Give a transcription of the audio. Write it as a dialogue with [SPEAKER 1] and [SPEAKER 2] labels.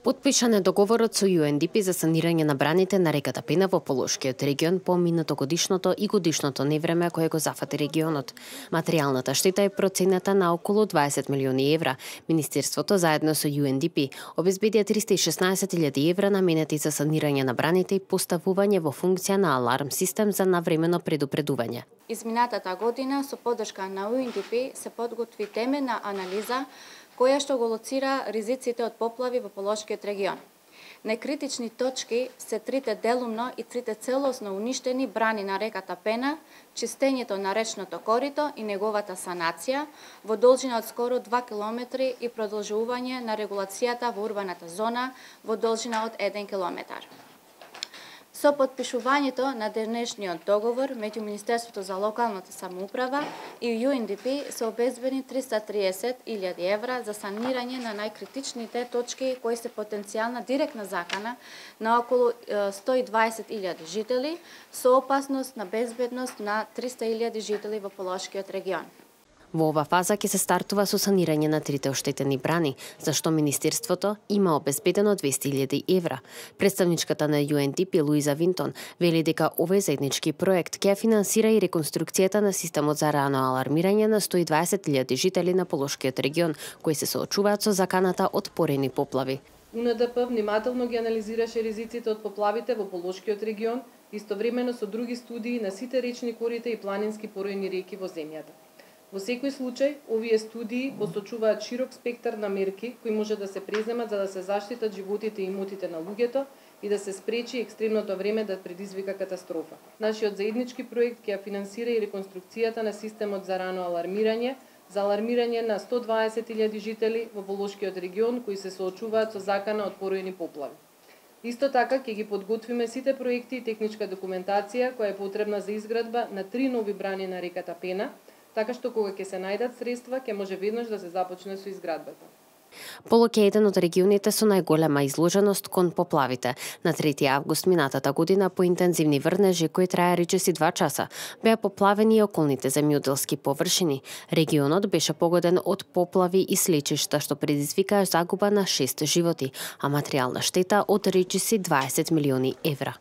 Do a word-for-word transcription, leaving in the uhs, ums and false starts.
[SPEAKER 1] Потпишан е договорот со Ю Ен Ди Пи за санирање на браните на реката Пена во Полошкиот регион по минатогодишното и годишното невреме кое го зафати регионот. Материјалната штета е процената на околу дваесет милиони евра. Министерството заедно со Ю Ен Ди Пи обезбедија триста и шеснаесет илјади евра наменети за санирање на браните и поставување во функција на аларм систем за навремено предупредување.
[SPEAKER 2] Изминатата година со поддршка на Ю Ен Ди Пи се подготви теменна анализа која што го лоцира ризиците од поплави во Полошкиот регион. Некритични точки се трите делумно и трите целосно уништени брани на реката Пена, чистењето на речното корито и неговата санација во должина од скоро два километри и продолжување на регулацијата во урбаната зона во должина од еден километар. Со потпишувањето на денешниот договор меѓу Министерството за локалната самоуправа и Ю Ен Ди Пи се обезбедени триста и триесет илјади евра за санирање на најкритичните точки кои се потенцијална директна закана на околу сто и дваесет илјади жители со опасност на безбедност на триста илјади жители во Полошкиот регион.
[SPEAKER 1] Во ова фаза ќе се стартува со санирање на трите оштетени брани, за што Министерството има обезбедено двесте илјади евра. Представничката на Ю Ен Ди Пи Луиза Винтон вели дека овој заеднички проект ќе финансира и реконструкцијата на системот за рано алармирање на сто и дваесет илјади жители на Полошкиот регион, кои се соочуваат со заканата од порени поплави.
[SPEAKER 3] У Ен Ди Пи внимателно ги анализираше ризиците од поплавите во Полошкиот регион, истовремено со други студии на сите речни корита и планински поројни реки во земјата. Во секој случај, овие студии посочуваат широк спектар на мерки кои може да се преземат за да се заштитат животите и имотите на луѓето и да се спречи екстремното време да предизвика катастрофа. Нашиот заеднички проект ќе ја финансира и реконструкцијата на системот за рано алармирање, за алармирање на сто и дваесет илјади жители во Полошкиот регион кои се соочуваат со закана од поројни поплави. Исто така ќе ги подготвиме сите проекти и техничка документација која е потребна за изградба на три нови брани на реката Пена, така што кога ќе се најдат средства, ќе може веднаш да се започне со изградбата.
[SPEAKER 1] Полок е еден од регионите со најголема изложеност кон поплавите. На трети август минатата година по интензивни врнежи кои трае речиси два часа, беа поплавени и околните земјоделски површини. Регионот беше погоден од поплави и слечишта што предизвикаа загуба на шест животи, а материјална штета од речиси дваесет милиони евра.